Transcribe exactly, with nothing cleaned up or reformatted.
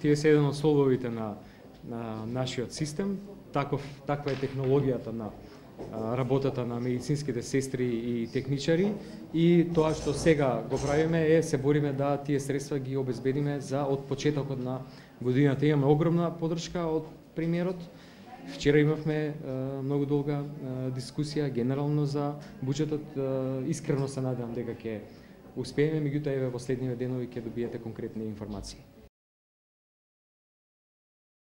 Тие се еден од столбовите на, на нашиот систем. Таков, таква е технологијата на работата на медицинските сестри и техничари, и тоа што сега го правиме е се бориме да тие средства ги обезбедиме за од почетокот на годината. Имаме огромна поддршка од премиерот. Вчера имавме многу долга дискусија генерално за буџетот. Искрено се надевам дека ќе успееме, меѓутоа еве во следниве денови ќе добиете конкретни информации.